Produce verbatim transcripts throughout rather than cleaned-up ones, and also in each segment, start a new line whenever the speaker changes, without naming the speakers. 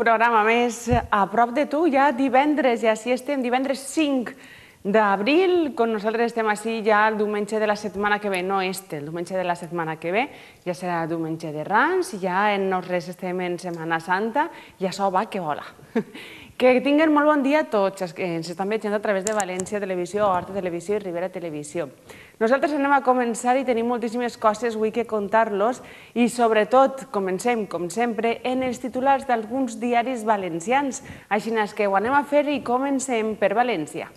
programa més a prop de tu, ja divendres, i així estem, divendres cinc d'abril, quan nosaltres estem així ja el diumenge de la setmana que ve, no este, el diumenge de la setmana que ve, ja serà diumenge de Rams, ja en nosaltres estem en Setmana Santa, i això va que vola. Que tinguin molt bon dia a tots els que ens estan veient a través de València Televisió, Horta Televisió i Ribera Televisió. Nosaltres anem a començar i tenim moltíssimes coses avui que contar-los i sobretot comencem, com sempre, en els titulars d'alguns diaris valencians. Així que ho anem a fer i comencem per València.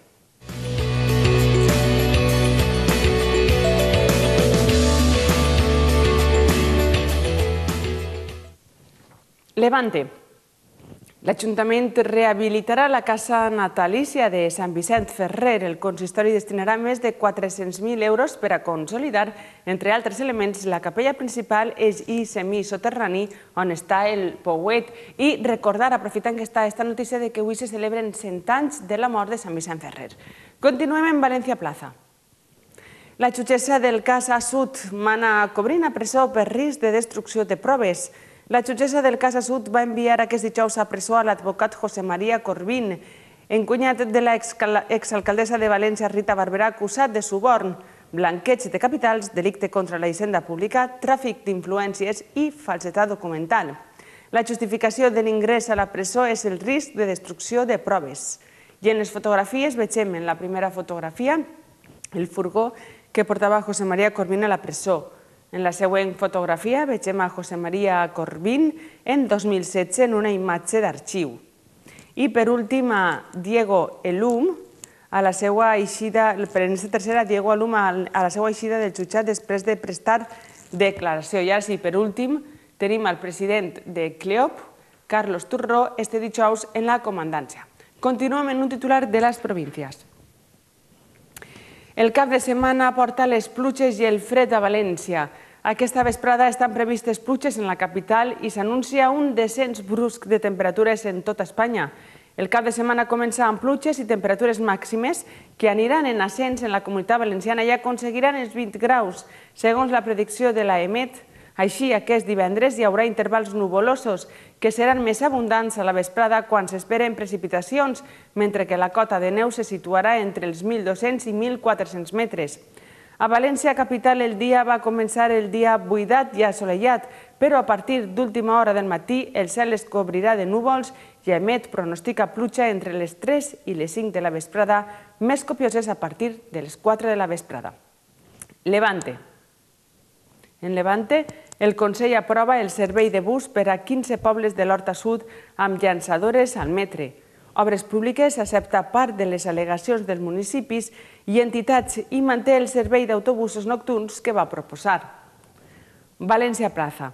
Levante. L'Ajuntament rehabilitarà la casa natalícia de Sant Vicent Ferrer. El consistori destinarà més de quatre-cents mil euros per a consolidar, entre altres elements, la capella principal i semisoterrani on està el pouet. I recordar, aprofitant que està aquesta notícia, que avui se celebren cent anys de la mort de Sant Vicent Ferrer. Continuem en València Plaza. La jutgessa del cas Assut mana Cobrin a presó per risc de destrucció de proves. La jutgessa del cas Assut va enviar aquest dijous a presó a l'advocat José María Corbín, encunyat de l'exalcaldessa de València Rita Barberà, acusat de suborn, blanqueig de capitals, delicte contra la hisenda pública, tràfic d'influències i falsedat documental. La justificació de l'ingrés a la presó és el risc de destrucció de proves. I en les fotografies vegem en la primera fotografia el furgó que portava José María Corbín a la presó. En la següent fotografia vegem a José María Corbín en dos mil setze en una imatge d'arxiu. I per últim a Diego Elum, a la seva eixida, per aquesta tercera, Diego Elum a la seva eixida del jutjat després de prestar declaració. I ara sí, per últim, tenim el president de CLEOP, Carlos Turró, este dijous en la comandància. Continuem en un titular de les províncies. El cap de setmana porta les pluges i el fred a València. Aquesta vesprada estan previstes pluges en la capital i s'anuncia un descens brusc de temperatures en tota Espanya. El cap de setmana comença amb pluges i temperatures màximes que aniran en ascens en la Comunitat Valenciana i aconseguiran els vint graus, segons la predicció de l'A E M E T. Així, aquest divendres hi haurà intervals nuvolosos que seran més abundants a la vesprada quan s'esperen precipitacions, mentre que la cota de neu se situarà entre els mil dos-cents i mil quatre-cents metres. A València capital el dia va començar el dia buidat i assolellat, però a partir d'última hora del matí el cel es cobrirà de núvols i A E M E T pronostica pluja entre les tres i les cinc de la vesprada, més copioses a partir de les quatre de la vesprada. Levante. En Levante, el Consell aprova el servei de bus per a quinze pobles de l'Horta Sud amb llançadores al metre. Obres Públiques accepta part de les al·legacions dels municipis i entitats i manté el servei d'autobusos nocturns que va proposar. València Plaza.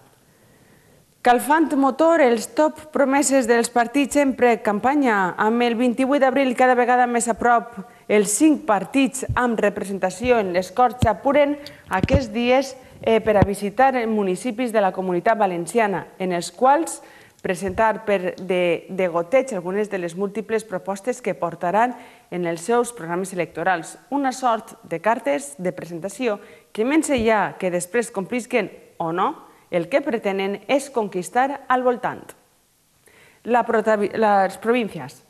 Calfant motor, els top promeses dels partits en precampanya. Amb el vint-i-vuit d'abril cada vegada més a prop, els cinc partits amb representació en les Corts apuren aquests dies per a visitar municipis de la Comunitat Valenciana, en els quals presentar per de goteig algunes de les múltiples propostes que portaran en els seus programes electorals. Una sort de cartes de presentació que menys ja que després complisquen o no, el que pretenen és conquistar al voltant. Les províncies.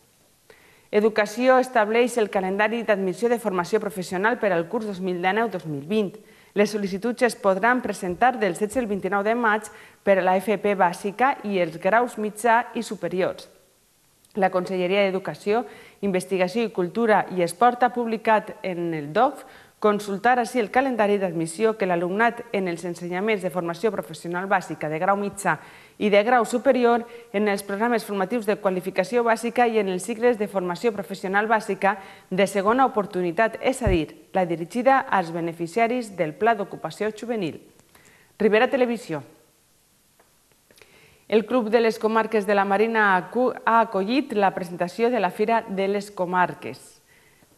Educació estableix el calendari d'admissió de formació professional per al curs dos mil dinou dos mil vint. Les sol·licituds es podran presentar del setze al vint-i-nou de maig per a la F P bàsica i els graus mitjà i superiors. La Conselleria d'Educació, Investigació i Cultura i Esport ha publicat en el D O F consultar així el calendari d'admissió que l'alumnat en els ensenyaments de formació professional bàsica de grau mitjà i de grau superior, en els programes formatius de qualificació bàsica i en els cicles de formació professional bàsica de segona oportunitat, és a dir, la dirigida als beneficiaris del Pla d'Ocupació Juvenil. Ribera Televisió. El Club de les Comarques de la Marina ha acollit la presentació de la Fira de les Comarques.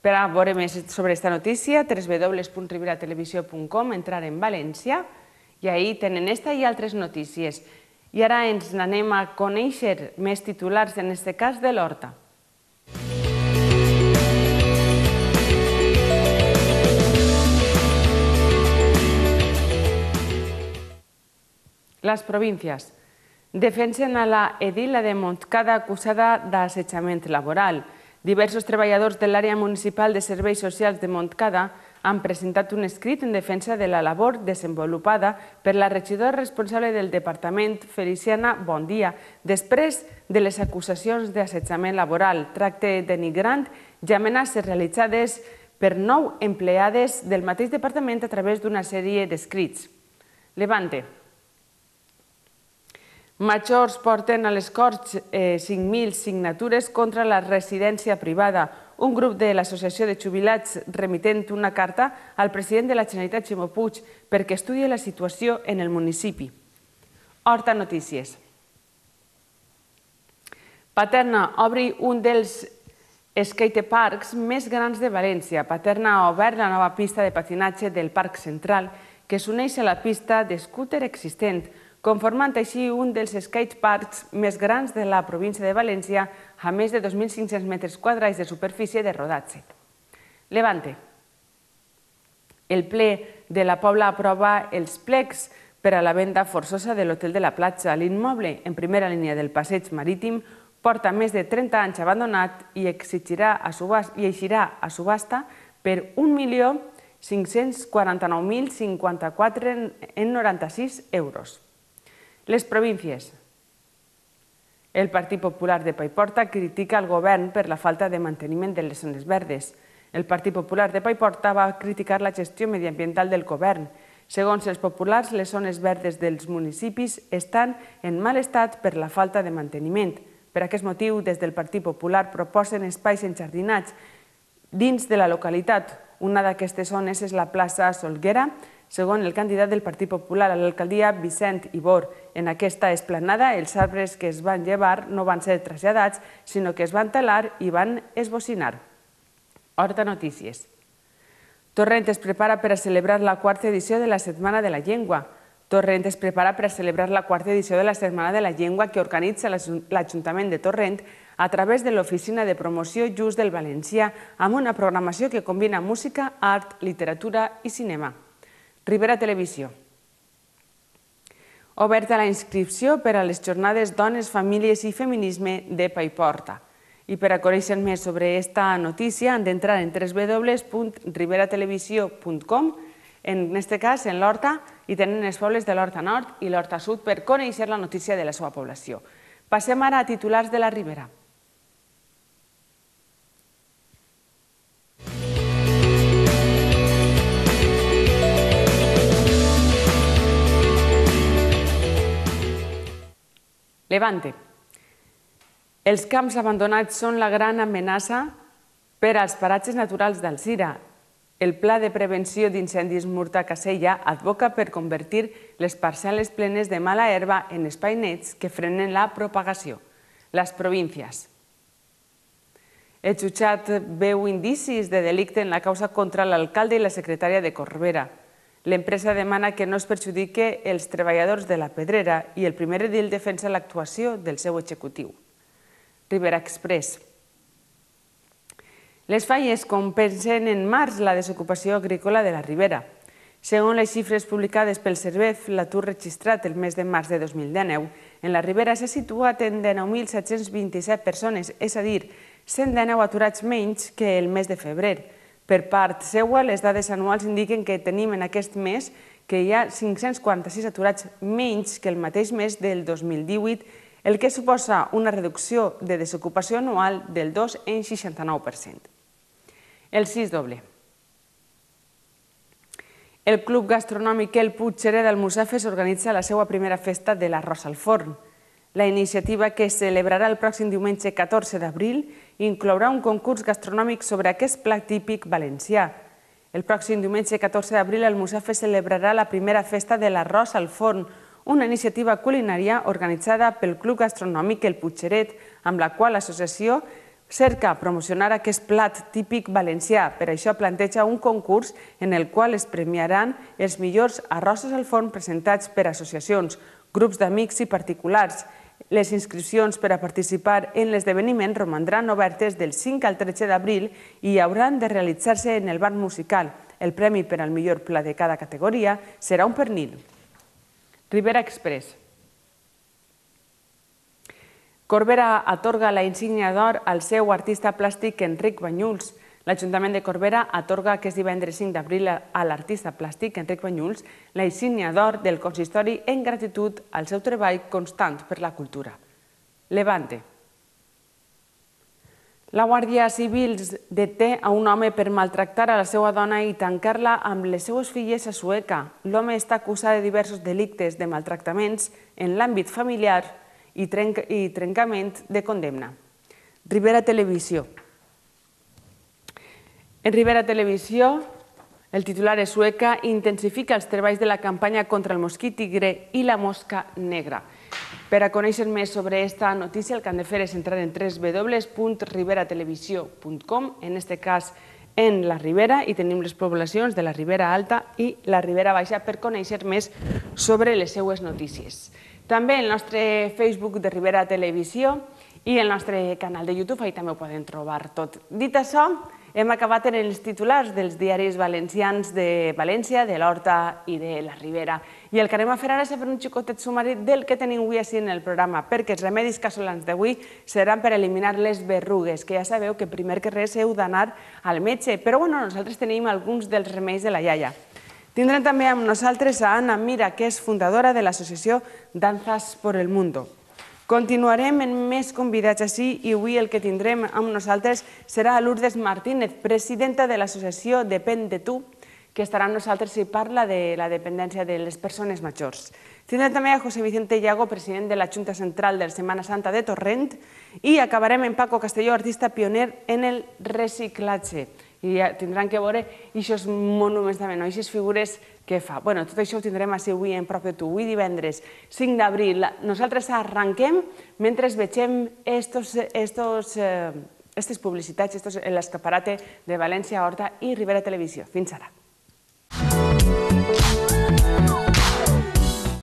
Per a veure més sobre aquesta notícia, w w w punt ribera televisió punt com, entrar en València, i ahí tenen esta i altres notícies. I ara ens n'anem a conèixer més titulars, en aquest cas de l'Horta. Les províncies. Defensen a la edila de Montcada acusada d'assetjament laboral. Diversos treballadors de l'àrea municipal de serveis socials de Montcada han presentat un escrit en defensa de la labor desenvolupada per la regidora responsable del departament, Feliciana Bondia, després de les acusacions d'assetjament laboral, tracte denigrant i amenaces realitzades per nou empleades del mateix departament a través d'una sèrie d'escrits. Levante. Majors porten a les Corts cinc mil signatures contra la residència privada. Un grup de l'Associació de Jubilats remitent una carta al president de la Generalitat, Ximo Puig, perquè estudi la situació en el municipi. Horta Notícies. Paterna obri un dels skateparks més grans de València. Paterna ha obert la nova pista de patinatge del Parc Central, que s'uneix a la pista d'escúter existent, conformant així un dels skateparks més grans de la província de València, a més de dos mil cinc-cents metres quadrats de superfície de rodatge. Levante. El ple de la Pobla aprova els plecs per a la venda forçosa de l'Hotel de la Platja. L'immoble, en primera línia del passeig marítim, porta més de trenta anys abandonat i eixirà a subhasta per un milió cinc-cents quaranta-nou mil cinquanta-quatre coma noranta-sis euros. Les províncies. El Partit Popular de Paiporta critica el govern per la falta de manteniment de les zones verdes. El Partit Popular de Paiporta va criticar la gestió mediambiental del govern. Segons els populars, les zones verdes dels municipis estan en mal estat per la falta de manteniment. Per aquest motiu, des del Partit Popular proposen espais enjardinats dins de la localitat. Una d'aquestes zones és la plaça Solguera, segons el candidat del Partit Popular a l'alcaldia, Vicent Ibor. En aquesta esplanada, els arbres que es van llevar no van ser traslladats, sinó que es van talar i van esbocinar. Horta Notícies. Torrent es prepara per a celebrar la quarta edició de la Setmana de la Llengua. Torrent es prepara per a celebrar la quarta edició de la Setmana de la Llengua que organitza l'Ajuntament de Torrent a través de l'Oficina de Promoció Just del Valencià, amb una programació que combina música, art, literatura i cinema. Ribera Televisió. Oberta la inscripció per a les jornades Dones, Famílies i Feminisme de Paiporta. I per a conèixer més sobre aquesta notícia han d'entrar en w w w punt ribera televisió punt com, en aquest cas en l'Horta, i tenen els pobles de l'Horta Nord i l'Horta Sud per conèixer la notícia de la seva població. Passem ara a titulars de la Ribera. Levante. Els camps abandonats són la gran amenaça per als paratges naturals d'Alzira. El Pla de Prevenció d'Incendis Murta-Casella advoca per convertir les parcel·les plenes de mala herba en espais nets que frenen la propagació. Les províncies. El jutjat veu indicis de delicte en la causa contra l'alcalde i la secretària de Corbera. L'empresa demana que no es perjudique els treballadors de la Pedrera i el primer edil defensa l'actuació del seu executiu. Ribera Express. Les falles compensen en març la desocupació agrícola de la Ribera. Segons les xifres publicades pel Servef, l'atur registrat el mes de març de dos mil dinou en la Ribera s'ha situat en dinou mil set-cents vint-i-set persones, és a dir, cent dinou aturats menys que el mes de febrer. Per part seua, les dades anuals indiquen que tenim en aquest mes que hi ha cinc-cents quaranta-sis aturats menys que el mateix mes del dos mil divuit, el que suposa una reducció de desocupació anual del dos coma seixanta-nou per cent. El sis doble. El Club Gastronòmic El Puigxeret d'Almussafes organitza la seva primera festa de l'arròs al forn. La iniciativa, que es celebrarà el pròxim diumenge catorze d'abril, inclourà un concurs gastronòmic sobre aquest plat típic valencià. El pròxim diumenge catorze d'abril Almussafes celebrarà la primera festa de l'arròs al forn, una iniciativa culinària organitzada pel Club Gastronòmic El Puigxeret, amb la qual l'associació cerca promocionar aquest plat típic valencià. Per això planteja un concurs en el qual es premiaran els millors arrossos al forn presentats per associacions, grups d'amics i particulars. Les inscripcions per a participar en l'esdeveniment romandran obertes del cinc al tretze d'abril i hauran de realitzar-se en el bar musical. El premi per al millor plat de cada categoria serà un pernil. Ribera Express. Corbera atorga la insígnia d'or al seu artista plàstic Enric Banyuls. L'Ajuntament de Corbera atorga aquest divendres cinc d'abril a l'artista plàstic Enric Banyuls la insígnia d'or del consistori en gratitud al seu treball constant per la cultura. Levante. La Guàrdia Civil deté a un home per maltractar a la seva dona i tancar-la amb les seues filles a Sueca. L'home està acusat de diversos delictes de maltractaments en l'àmbit familiar i trencament de condemna. Ribera Televisió. En Ribera Televisió, el titular és Sueca intensifica els treballs de la campanya contra el mosquit tigre i la mosca negra. Per a conèixer més sobre aquesta notícia, el que han de fer és entrar en w w w punt ribera televisió punt com, en aquest cas en la Ribera, i tenim les poblacions de la Ribera Alta i la Ribera Baixa per conèixer més sobre les seues notícies. També el nostre Facebook de Ribera Televisió i el nostre canal de YouTube, ahí també ho poden trobar tot. Dit això, hem acabat en els titulars dels diaris valencians de València, de l'Horta i de la Ribera. I el que anem a fer ara és fer un xicotet sumari del que tenim avui així en el programa, perquè els remedis casolans d'avui seran per eliminar les berrugues, que ja sabeu que primer que res heu d'anar al metge, però bueno, nosaltres tenim alguns dels remeis de la iaia. Tindrem també amb nosaltres a Ana Mira, que és fundadora de l'associació Danzas por el Mundo. Continuarem amb més convidats així i avui el que tindrem amb nosaltres serà Lourdes Martínez, presidenta de l'associació Depèn de tu, que estarà amb nosaltres i parla de la dependència de les persones majors. Tindrem també a José Vicente Iago, president de la Junta Central de Setmana Santa de Torrent, i acabarem amb Paco Castelló, artista pioner en el reciclatge. I tindran que veure aquests monuments també, aquestes figures que fa. Bé, tot això ho tindrem així avui en Prop de tu, avui divendres cinc d'abril. Nosaltres arranquem mentre vegem aquestes publicitats, l'escaparate de València, Horta i Ribera Televisió. Fins ara.